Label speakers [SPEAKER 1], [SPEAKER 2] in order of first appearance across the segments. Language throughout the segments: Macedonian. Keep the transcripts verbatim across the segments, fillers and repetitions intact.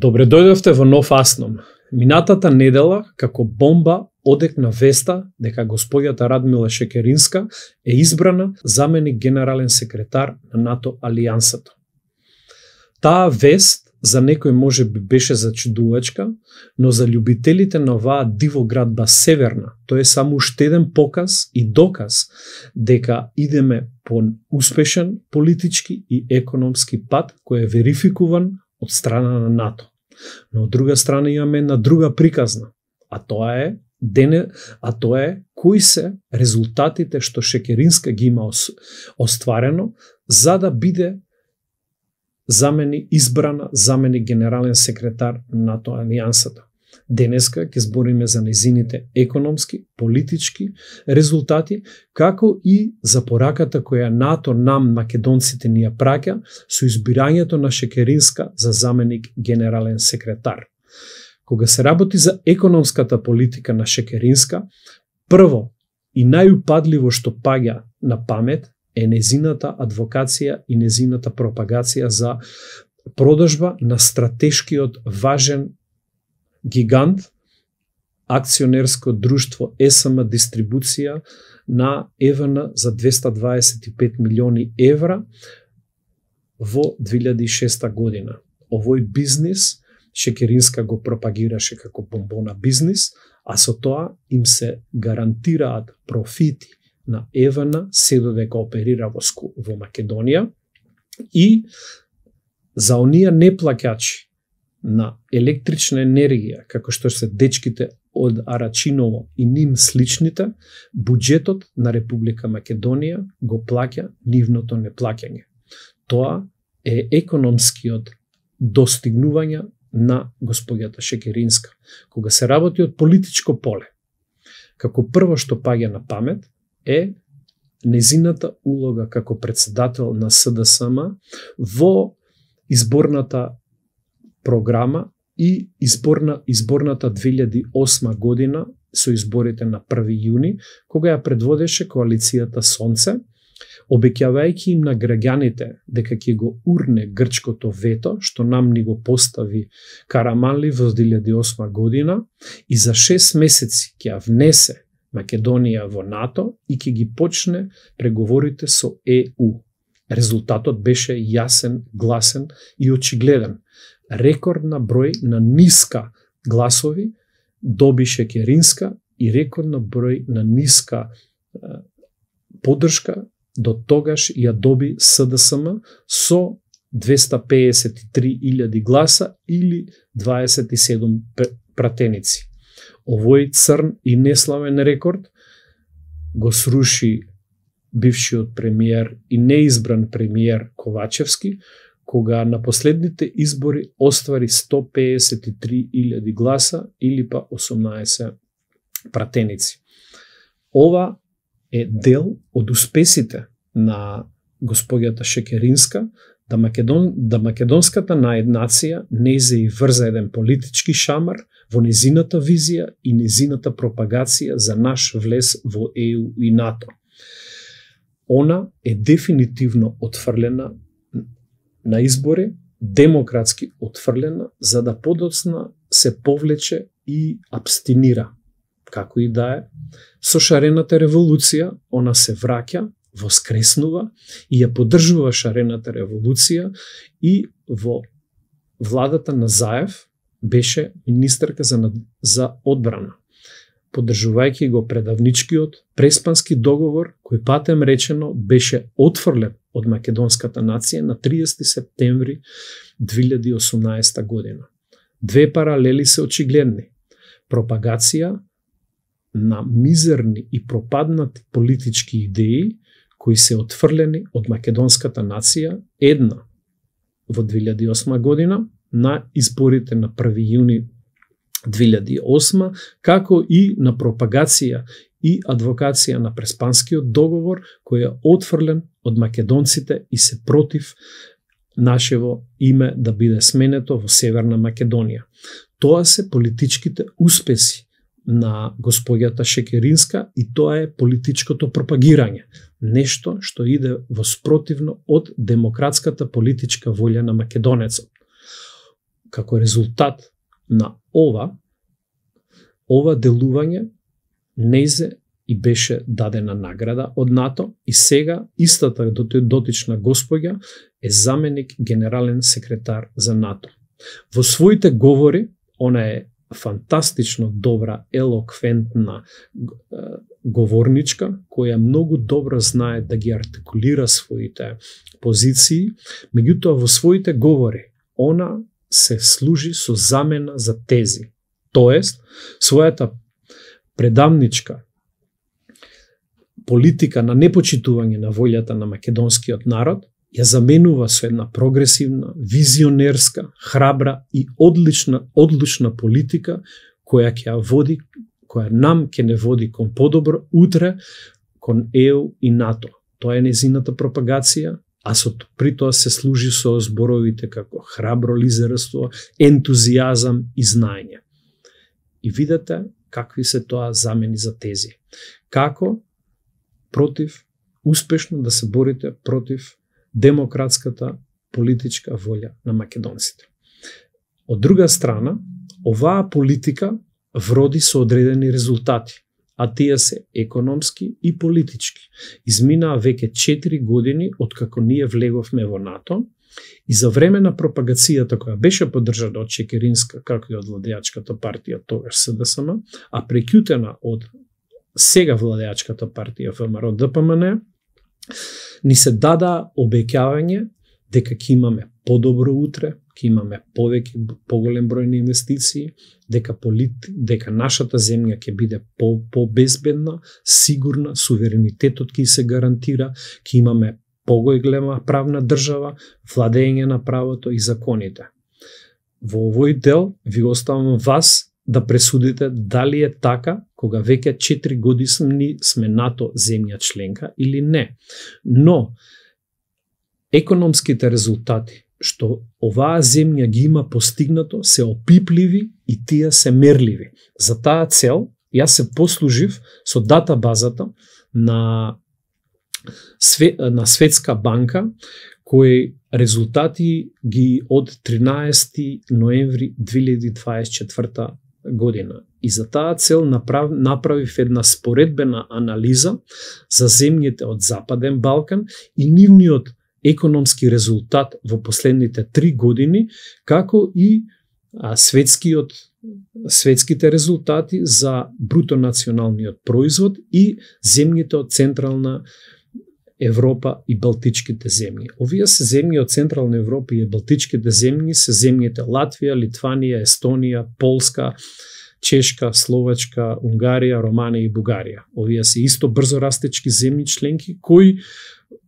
[SPEAKER 1] Добре дојдовте во нов Асном. Минатата недела, како бомба, одекна веста дека господјата Радмила Шекеринска е избрана заменик генерален секретар на НАТО алијансата. Таа вест за некој може би беше зачудувачка, но за љубителите на оваа дивоградба Северна, тоа е само уште еден показ и доказ дека идеме по успешен политички и економски пат кој е верификуван од страна на НАТО. Но од друга страна имаме една друга приказна, а тоа е дене, а тоа е кои се резултатите што Шекеринска ги има остварено за да биде замени избрана замени генерален секретар на НАТО алијансата. Денеска ќе збориме за незините економски, политички резултати, како и за пораката која НАТО нам македонците ни ја праќа со избирањето на Шекеринска за заменик генерален секретар. Кога се работи за економската политика на Шекеринска, прво и најупадливо што паѓа на памет е незината адвокација и незината пропагација за продажба на стратешкиот важен гигант акционерско друштво Ес Ем Дистрибуција на Е В Н за двеста дваесет и пет милиони евра во две илјади и шеста година. Овој бизнис Шекеринска го пропагираше како бомбона бизнис, а со тоа им се гарантираат профити на Е В Н се додека оперира во, во Македонија и за оние неплаќачи на електрична енергија, како што се дечките од Арачиново и ним сличните, буџетот на Република Македонија го плаќа нивното неплаќање. Тоа е економскиот достигнување на господјата Шекеринска. Кога се работи од политичко поле, како прво што паѓа на памет е незината улога како председател на С Д С М во изборната програма и изборна, изборната две илјади и осма година со изборите на први јуни, кога ја предводеше коалицијата Сонце, обеќавајќи им на граѓаните дека ќе го урне грчкото вето, што нам ни го постави Караманли во две илјади и осма година, и за шест месеци ќе ја внесе Македонија во НАТО и ќе ги почне преговорите со Е У. Резултатот беше јасен, гласен и очигледен. Рекордна број на ниска гласови доби Шекеринска и рекордна број на ниска е, поддршка до тогаш ја доби С Д С М со двеста пеесет и три илјади гласа или дваесет и седум пратеници. Овој црн и неславен рекорд го сруши бившиот премиер и неизбран премиер Ковачевски, кога на последните избори оствари сто пеесет и три илјади гласа или па осумнаесет пратеници. Ова е дел од успесите на господјата Шекеринска да, Македон, да македонската наеднација не се и врза еден политички шамар во незината визија и незината пропагација за наш влез во Е У и НАТО. Она е дефинитивно отфрлена на избори, демократски отфрлена, за да подоцна се повлече и абстинира. Како и да е, со шарената револуција, она се враќа, воскреснува и ја поддржува шарената револуција и во владата на Заев беше министерка за, за одбрана, поддржувајќи го предавничкиот преспански договор кој патем речено беше отфрлен од македонската нација на триесети септември две илјади и осумнаесета година. Две паралели се очигледни. Пропагација на мизерни и пропаднати политички идеи кои се отфрлени од македонската нација, една во две илјади и осма година на изборите на први јуни две илјади и осма, како и на пропагација и адвокација на преспанскиот договор кој е отфрлен од македонците и се против нашево име да биде сменето во Северна Македонија. Тоа се политичките успеси на господјата Шекеринска и тоа е политичкото пропагирање. Нешто што иде во спротивно од демократската политичка волја на македонецот. како резултат на ова, ова делување нејзе и беше дадена награда од НАТО и сега истата дотична госпоѓа е заменик генерален секретар за НАТО. Во своите говори, она е фантастично добра, елоквентна говорничка, која многу добро знае да ги артикулира своите позиции, меѓутоа во своите говори она се служи со замена за тези. Тоест, својата предавничка политика на непочитување на волјата на македонскиот народ ја заменува со една прогресивна, визионерска, храбра и одлична, одлучна политика која ќе ја води, која нам ќе не води кон подобро утре кон Е У и НАТО. Тоа е незината пропагација, а со при тоа се служи со зборовите како храбро лидерство, ентузијазам и знаење. И видете какви се тоа замени за тези. Како против, успешно да се борите против демократската политичка волја на македонците. Од друга страна, оваа политика вроди со одредени резултати, а тие се економски и политички. Изминаа веќе четири години откако ние влеговме во НАТО и за време на пропагацијата која беше поддржана од Чекеринска, како и од владеачката партија тогаш С Д С М, а прекјутена од сега владеачката партија Ф М Р Д П М Н, ни се дада обеќавање дека ќе имаме подобро утре, ќе имаме повеќе поголем број на инвестиции, дека полит, дека нашата земја ќе биде по побезбедна, сигурна, суверенитетот ќе се гарантира, ќе имаме поголема правна држава, владење на правото и законите. Во овој дел ви оставам вас да пресудите дали е така кога веќе четири години сме НАТО земја членка или не. Но економските резултати што оваа земја ги има постигнато се опипливи и тие се мерливи. За таа цел јас се послужив со датабазата на на Светска банка кои резултати ги од тринаесети ноември две илјади дваесет и четврта година. И за таа цел направ, направив една споредбена анализа за земјите од Западен Балкан и нивниот економски резултат во последните три години, како и а, светскиот, светските резултати за брутонационалниот производ и земјите од Централна Европа и Балтичките земји. Овие се земји од Централна Европа и Балтичките земји се земјите Латвија, Литванија, Естонија, Полска, Чешка, Словачка, Унгарија, Романија и Бугарија. Овие се исто брзо растечки земји членки кои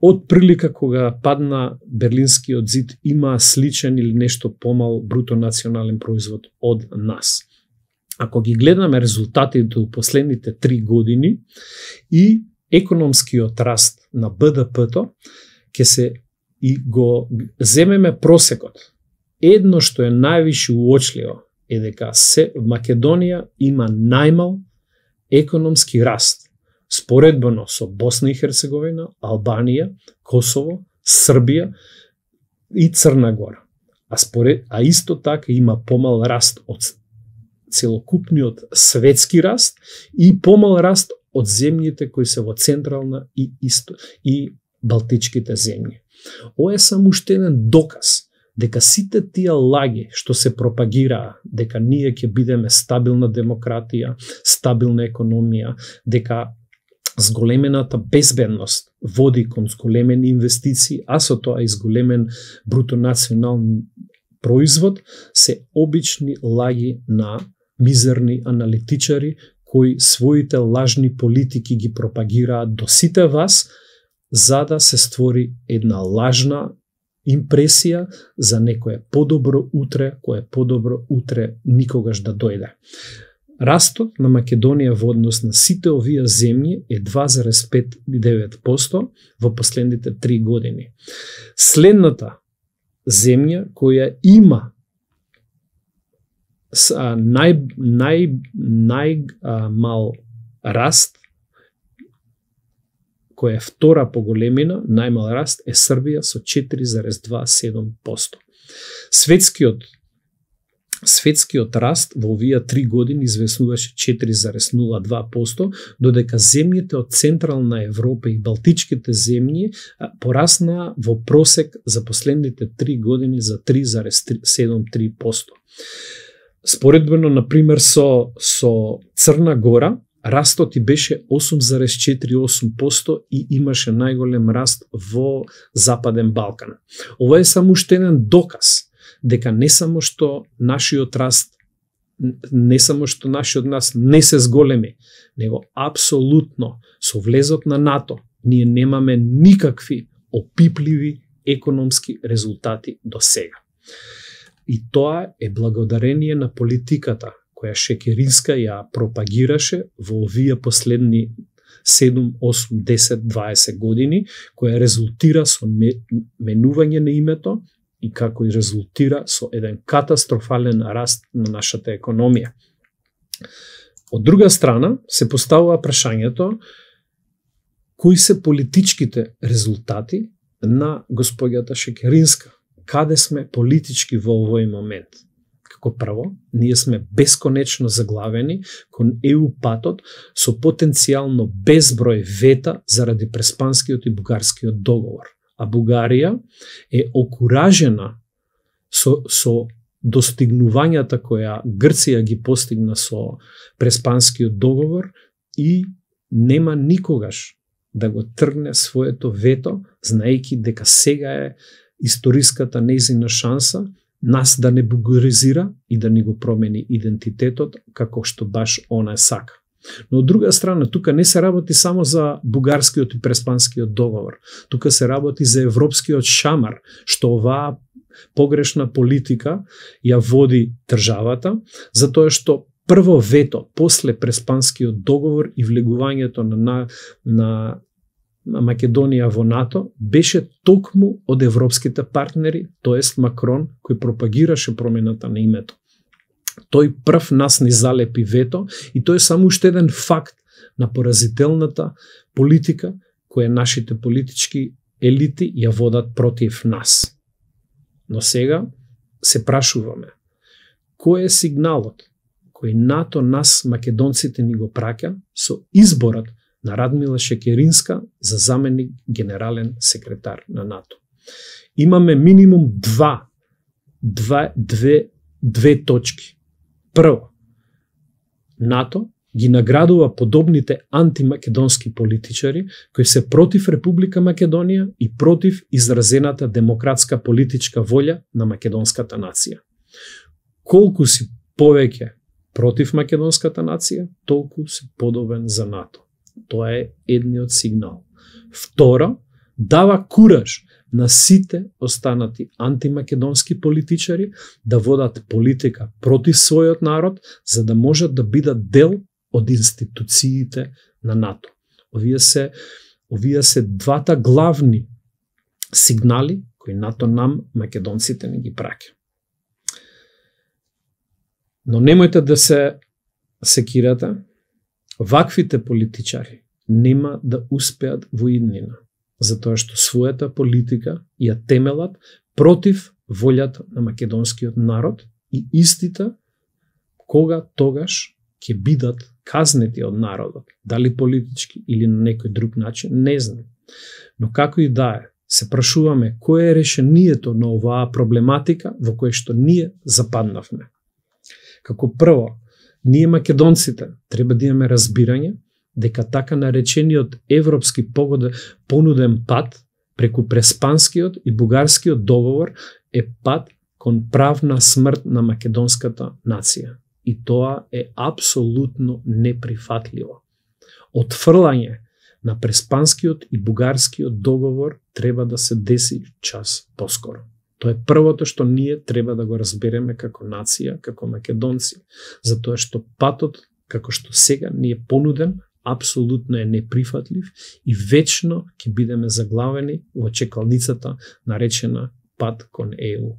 [SPEAKER 1] од прилика кога падна Берлинскиот зид има сличен или нешто помал брутонационален производ од нас. Ако ги гледаме резултатите во последните три години и економскиот раст на Б Д П-то, ќе се и го земеме просекот. Едно што е највише уочливо е дека се Македонија има најмал економски раст, споредбено со Босна и Херцеговина, Албанија, Косово, Србија и Црна Гора. А, според, а исто така има помал раст од целокупниот светски раст и помал раст од земјите кои се во Централна и Исто и Балтичките земји. Ова е само уште еден доказ дека сите тие лаги што се пропагираа, дека ние ќе бидеме стабилна демократија, стабилна економија, дека зголемената безбедност води кон зголемени инвестиции, а со тоа и зголемен брутонационален производ, се обични лаги на мизерни аналитичари кои своите лажни политики ги пропагираат до сите вас, за да се створи една лажна импресија за некое подобро утре, кое подобро утре никогаш да дојде. Растот на Македонија во однос на сите овие земји е два зарез пет и девет проценти во последните три години. Следната земја која има нај нај најмал раст, која е втора по големина, најмал раст е Србија со четири зарез дваесет и седум проценти. Светскиот светскиот раст во овие три години извеснуваше четири зарез нула два проценти, додека земјите од Централна Европа и Балтичките земји пораснаа во просек за последните три години за три зарез седум три проценти. Споредбено, например, со, со Црна Гора, растот и беше осум зарез четири осум проценти и имаше најголем раст во Западен Балкан. Ова е само уште еден доказ дека не само што нашиот раст, не само што нашиот нас не се зголеми, него апсолутно со влезот на НАТО ние немаме никакви опипливи економски резултати до сега. И тоа е благодарение на политиката која Шекеринска ја пропагираше во овие последни седум, осум, десет, дваесет години, која резултира со менување на името и како и резултира со еден катастрофален раст на нашата економија. Од друга страна, се поставува прашањето кои се политичките резултати на господјата Шекеринска. Каде сме политички во овој момент? Како прво, ние сме бесконечно заглавени кон Е У патот со потенцијално безброј вета заради Преспанскиот и Бугарскиот договор. А Бугарија е окуражена со, со достигнувањата која Грција ги постигна со Преспанскиот договор и нема никогаш да го тргне своето вето, знаејќи дека сега е историската нејзина шанса нас да не бугаризира и да ни го промени идентитетот како што баш она сака. Но од друга страна, тука не се работи само за Бугарскиот и Преспанскиот договор. Тука се работи за европскиот шамар, што оваа погрешна политика ја води државата, затоа што прво вето после Преспанскиот договор и влегувањето на, на, на Македонија во НАТО беше токму од европските партнери, тоест Макрон, кој пропагираше промената на името. Тој прв нас ни залепи вето и тој е само уште еден факт на поразителната политика која нашите политички елити ја водат против нас. Но сега се прашуваме, кој е сигналот кој НАТО нас македонците ни го праќа со изборот на Радмила Шекеринска за заменик генерален секретар на НАТО. Имаме минимум два, два две, две точки. Прво, НАТО ги наградува подобните антимакедонски политичари кои се против Република Македонија и против изразената демократска политичка волја на македонската нација. Колку си повеќе против македонската нација, толку си подобен за НАТО. Тоа е едниот сигнал. Второ, дава кураж на сите останати антимакедонски политичари да водат политика против својот народ, за да можат да бидат дел од институциите на НАТО. Овие се, овие се двата главни сигнали кои НАТО нам, македонците, не ги праќа. Но немојте да се секирате, ваквите политичари нема да успеат во иднина, затоа што својата политика ја темелат против волјата на македонскиот народ и истите кога тогаш ќе бидат казнети од народот, дали политички или на некој друг начин, не знам. Но како и да е, се прашуваме кое е решението на оваа проблематика во која што ние западнавме. Како прво, ние македонците треба да имаме разбирање дека така наречениот европски понуден пат преку Преспанскиот и Бугарскиот договор е пат кон правна смрт на македонската нација. И тоа е апсолутно неприфатливо. Отфрлање на Преспанскиот и Бугарскиот договор треба да се деси час поскоро. Тоа е првото што ние треба да го разбереме како нација, како македонци, затоа што патот, како што сега ни е понуден, апсолутно е неприфатлив и вечно ќе бидеме заглавени во чекалницата наречена пат кон Е У.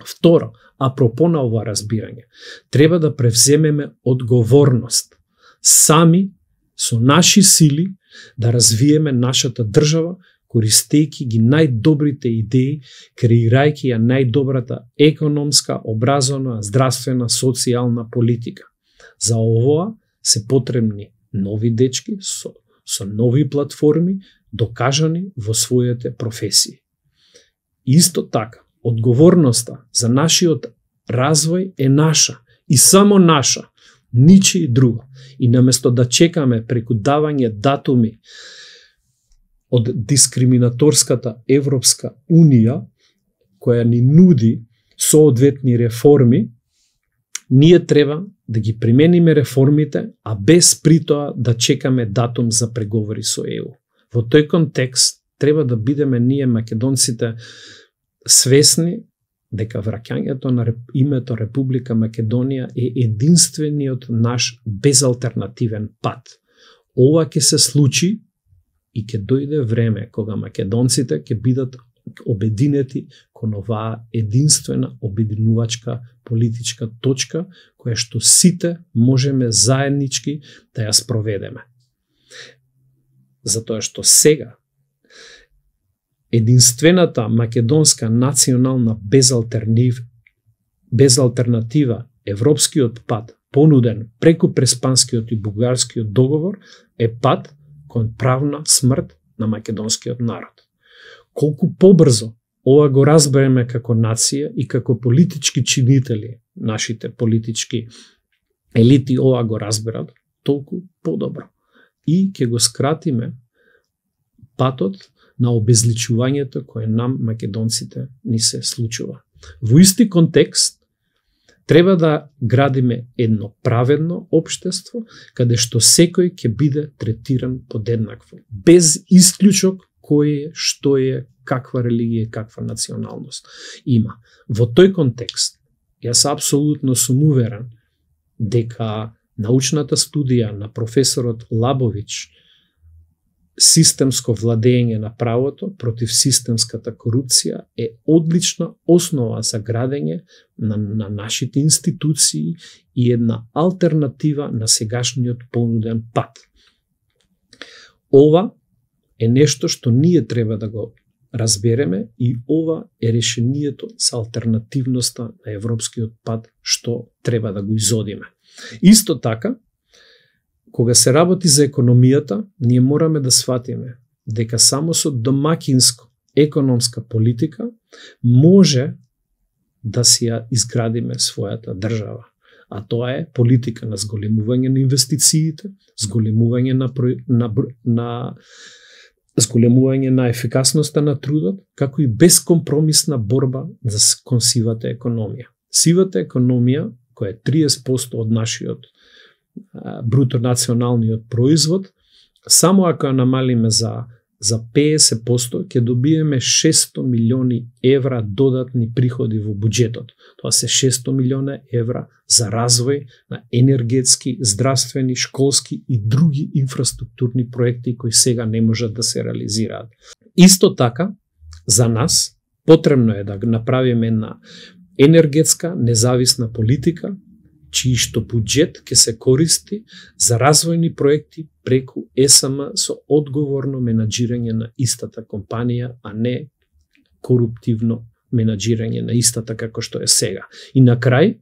[SPEAKER 1] Второ, апропо на ова разбирање, треба да превземеме одговорност сами со наши сили да развиеме нашата држава користејќи ги најдобрите идеи, креирајќи ја најдобрата економска, образовна, здравствена, социјална политика. За овоа се потребни нови дечки со, со нови платформи, докажани во своите професии. Исто така, одговорноста за нашиот развој е наша и само наша, ничи друго. И наместо да чекаме преку давање датуми од дискриминаторската Европска Унија, која ни нуди соодветни реформи, ние треба да ги примениме реформите, а без при тоа да чекаме датум за преговори со Е У. Во тој контекст треба да бидеме ние македонците свесни дека враќањето на името Република Македонија е единствениот наш безалтернативен пат. Ова ќе се случи и ќе дојде време кога македонците ќе бидат обединети кон оваа единствена обединувачка политичка точка која што сите можеме заеднички да ја спроведеме. Затоа што сега единствената македонска национална безалтернатив, безалтернатива европскиот пат понуден преку Преспанскиот и Бугарскиот договор е пат кон правна смрт на македонскиот народ. Колку побрзо ова го разбереме како нација и како политички чинители, нашите политички елити ова го разберат, толку подобро. И ќе го скратиме патот на обезличувањето кое нам македонците ни се случува. Во исти контекст треба да градиме едно праведно општество каде што секој ќе биде третиран подеднакво, без исклучок кој е, што е, каква религија, каква националност има. Во тој контекст, јас апсолутно сум уверен дека научната студија на професорот Лабович системско владење на правото против системската корупција е одлична основа за градење на, на нашите институции и една алтернатива на сегашниот понуден пат. Ова е нешто што ние треба да го разбереме и ова е решението за алтернативноста на европскиот пат што треба да го изодиме. Исто така, кога се работи за економијата, ние мораме да сватиме дека само со домакинско економска политика може да си ја изградиме својата држава. А тоа е политика на зголемување на инвестициите, зголемување на, на, на зголемување на ефикасноста на трудот, како и бескомпромисна борба за кон сивата економија. Сивата економија, која е триесет проценти од нашиот бруто националниот производ, само ако ја намалиме за, за петдесет проценти, ќе добиеме шестстотини милиони евра додатни приходи во буџетот. Тоа се шестстотини милиона евра за развој на енергетски, здравствени, школски и други инфраструктурни проекти кои сега не можат да се реализираат. Исто така, за нас, потребно е да направиме една енергетска независна политика, чиј што буџет ќе се користи за развојни проекти преку Е С М со одговорно менаџирање на истата компанија, а не коруптивно менаџирање на истата како што е сега. И на крај,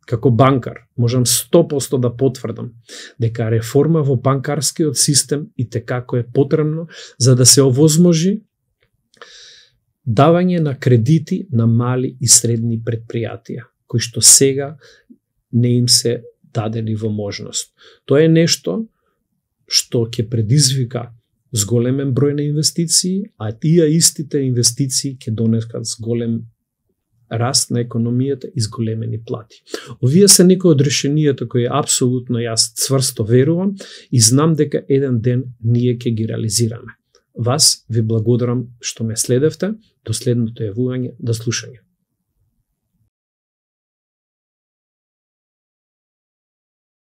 [SPEAKER 1] како банкар, можам сто проценти да потврдам дека реформа во банкарскиот систем и текако е потребно за да се овозможи давање на кредити на мали и средни предпријатија, кои што сега не им се дадени во можност. Тоа е нешто што ќе предизвика зголемен број на инвестиции, а тие истите инвестиции ќе донесат зголем раст на економијата и зголемени плати. Овие се некои од решенијата кои апсолутно јас цврсто верувам и знам дека еден ден ние ќе ги реализираме. Вас ви благодарам што ме следевте, до следното јавување, до слушање.